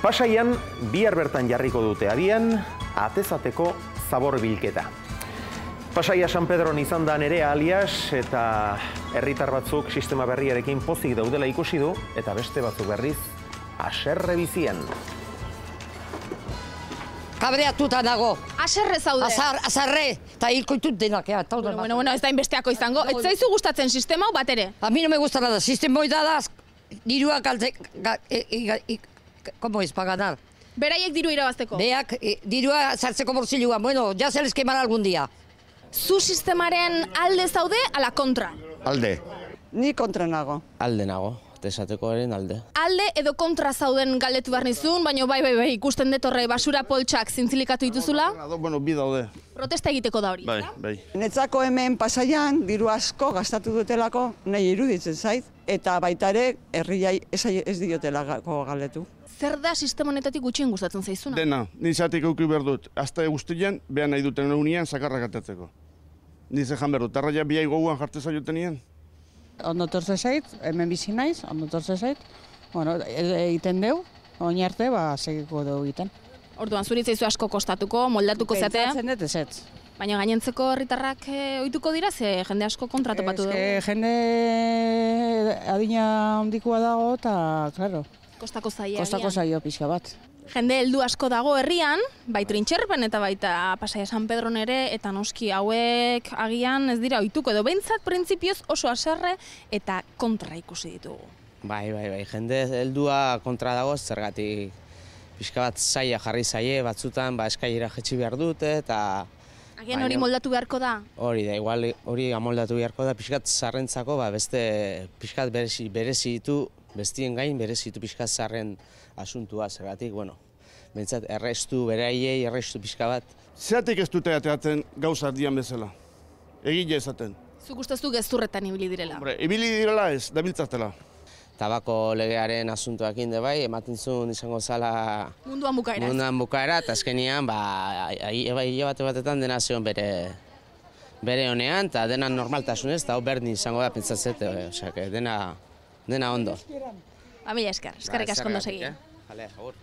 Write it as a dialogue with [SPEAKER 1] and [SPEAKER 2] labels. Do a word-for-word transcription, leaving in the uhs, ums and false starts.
[SPEAKER 1] Pasaian, bihar bertan jarriko dute abian, atezateko zabor bilketa. Pasaia San Pedron izan da Nerea alias, eta herritar batzuk sistema berriarekin pozik daudela ikusi du, eta beste batzuk berriz, haserre bizian.
[SPEAKER 2] Kabreatuta dago.
[SPEAKER 3] Haserre zaude.
[SPEAKER 2] Azar, azarre, eta hilkoitut denak. Ja,
[SPEAKER 3] bueno, bueno, bueno, ez da inbesteako izango. Ez zaizu gustatzen sistema hau bat ere?
[SPEAKER 2] A mi no me gusta nada. Sistema hoi da da, dirua kalte... ¿Cómo es para ganar?
[SPEAKER 3] Beraiek diru irabazteko.
[SPEAKER 2] Beak, eh, dirua sartzeko bolsilluan. Bueno, ya se les quemará algún día.
[SPEAKER 3] Zu sistemaren alde zaude, ala kontra?
[SPEAKER 4] Alde.
[SPEAKER 5] Ni kontra nago.
[SPEAKER 6] Alde nago, tesatekoaren alde.
[SPEAKER 3] Alde edo kontra zauden galdetu behar nizun, baina bai, bai, bai, ikusten detorre basura poltsak zintzilikatu dituzula.
[SPEAKER 4] Bueno, bi daude.
[SPEAKER 3] Protesta egiteko da hori.
[SPEAKER 4] Bai, bai.
[SPEAKER 5] Netzako hemen Pasaian diru asko gastatu dutelako nahi iruditzen zait, eta baita ere herriai ez diotelako galdetu.
[SPEAKER 3] Zer da sistema honetatik gutxien gustatzen zaizuna?
[SPEAKER 4] Dena, nizatik euki behar dut. Azte guztien, behan nahi duten egunean sakarrak atatzeko. Nize jan behar dut, tarraia biai goguan jarteza jotenien.
[SPEAKER 7] Ondo torze zait, hemen bizi naiz, ondo torze zait. Bueno, egiten deu, oin arte, ba, segiko deu egiten.
[SPEAKER 3] Orduan, zuritzaizu asko kostatuko, moldatuko zatea.
[SPEAKER 7] Pentsatzen dut ezetz.
[SPEAKER 3] Baina gainentzeko herritarrak ohituko dira, ze jende asko kontratopatu dugu.
[SPEAKER 7] Ez jende adina handikoa dago, eta, claro,
[SPEAKER 3] Kostako zaia.
[SPEAKER 7] kostako zaio pixka bat.
[SPEAKER 3] Jende heldu asko dago herrian, bai Trintxerpen eta baita Pasaia San Pedron ere, eta noski hauek agian ez dira ohituko edo behintzat printzipioz oso haserre eta kontra ikusi ditugu.
[SPEAKER 6] Bai, bai, bai, jende heldua kontra dago, zergatik pixka bat zaila jarri zaie, batzutan ba, eskailera jetxi behar dute, eta...
[SPEAKER 3] Agian hori moldatu beharko da?
[SPEAKER 6] Hori da, igual hori amoldatu beharko da, pixkat zarrentzako, ba, beste pixkat berezi, berezi ditu, bestien gain berezi ditu pixkat zarren asuntua, zergatik, bueno, bentsat errestu, beraiei, errestu pixka bat.
[SPEAKER 4] Zeratik ez dute ateatzen gauza dian bezala. Egile esaten.
[SPEAKER 3] Zuk usteztu gezurretan ibili direla?
[SPEAKER 4] Hombre, ibili direla ez, dabiltzatela.
[SPEAKER 6] Tabako legearen asuntoak inde bai, ematen zuen izango zala...
[SPEAKER 3] Munduan bukaera.
[SPEAKER 6] Munduan bukaera, eta azkenian, ba, hile bate batetan dena zeon bere bere honean, eta dena normaltasunez, eta hau berdin izango da pentsatzete, osea, dena, dena ondo.
[SPEAKER 3] Ba, mila esker, eskerrik asko ondo segi.
[SPEAKER 6] Jale, agur.